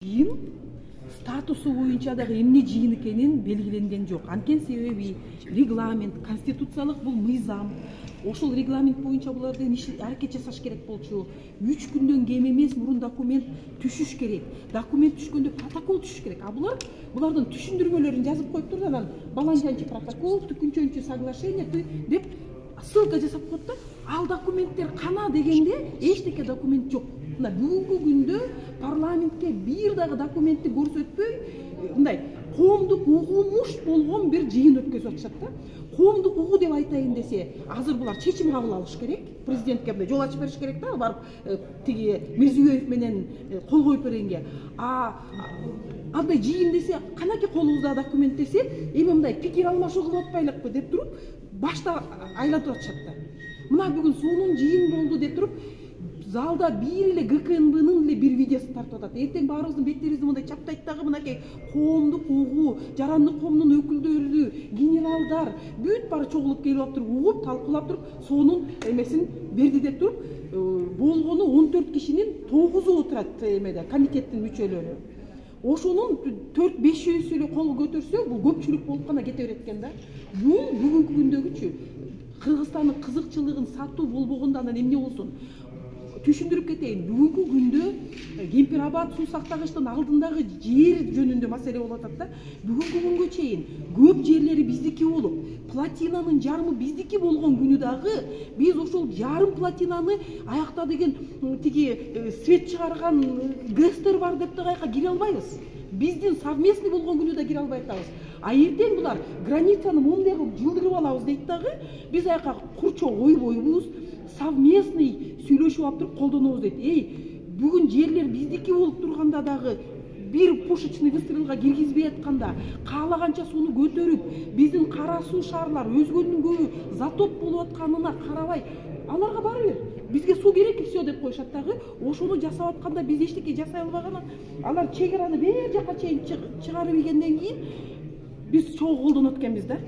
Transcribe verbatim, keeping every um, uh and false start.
жыйын статусу боюнча дагы эмне жыйын экенин белгиленген жок. Анткени себеби регламент, конституциялык бул мыйзам. Ошол регламент боюнча булардын иш аракет жасаш керек болчу. үч күндөн кем эмес мурун документ түшүш керек. Документ түшкөндө протокол түшүш керек. А булар булардын түшүндүрмөлөрүн жазып коюптур да, анан баланчанчы протокол, түкүнчөнчү соглашение деп ссылка жасап коет да. Ал документтер кана дегенде эчтеке документ жок. Мына бүгүнкү күндө парламентке бир дагы документти көрсөтпөй, мындай коомдук угумуш болгон бир жыйын өткөзүп атышат да. Коомдук угуу деп айтайын десе, азыр булар чечим кабыл алыш керек. Президентке мындай жол ачып бериш керек да, барып тиги Мирзиёев менен кол коюп бергенге. А андай жыйын десе, канаки колубузда документ десе, эми мындай пикир алмашуу кылып атпайлыкпы деп туруп, башта айлатып атышат да. Мына бүгүн сонун жыйын болду деп туруп, залда бир эле ГКНБнын эле бир видеосун тартып атат. Эртең баарыбыздын беттерибизди мындай чаптайт дагы, мынакей коомдук угуу, жарандык коомдун өкүлдөрү, генералдар бүт баары чогулуп келип алып туруп, угуп, талкуулап туруп, сонун эмесин берди деп туруп, болгону он төрт кишинин тогузу отурат эмеде, комитеттин мүчөлөрү. Ошонун төрт бешөөсү эле кол көтөрсө, бул көпчүлүк болуп гана кете берет экен да. Бул бүгүнкү күндөгүчү Кыргызстандын кызыкчылыгын сатуу болбогондо анан эмне болсун? Түшүндүрүп кетейин. Бүгүнкү күндө Кемпир-Абад суу сактагычтын алдындагы жер жөнүндө маселе болуп атат да. Бүгүнкү күнгө чейин көп жерлери биздики болуп, платинанын жарымы биздики болгон күнү дагы биз ошол жарым платинаны аякта деген тиги свет чыгарган ГЭСтер бар деп дагы аяка кире албайбыз. Биздин совместный болгон күнү да кире албай атабыз. А эртең булар границаны моундай кылып жылдырып алабыз дейт дагы, биз аяка курчоо койбойбуз, совместный сүйлөшүп алып туруп колдонобуз дейт. Эй, бүгүн жерлер биздики болуп турганда дагы бир пушечный выстрелга киргизбей атканда, каалаганча сууну көтөрүп, биздин кара суу шаарлар өзгөнүн көбү затоп болуп атканына карабай, аларга баары бир. Бизге суу керек все деп коюшат дагы. Ошону жасап атканда биз эчтеке жасай албаган, алар чек араны бер жака чейин чыгарып ийгенден кийин биз чогуу колдонот экенбиз да.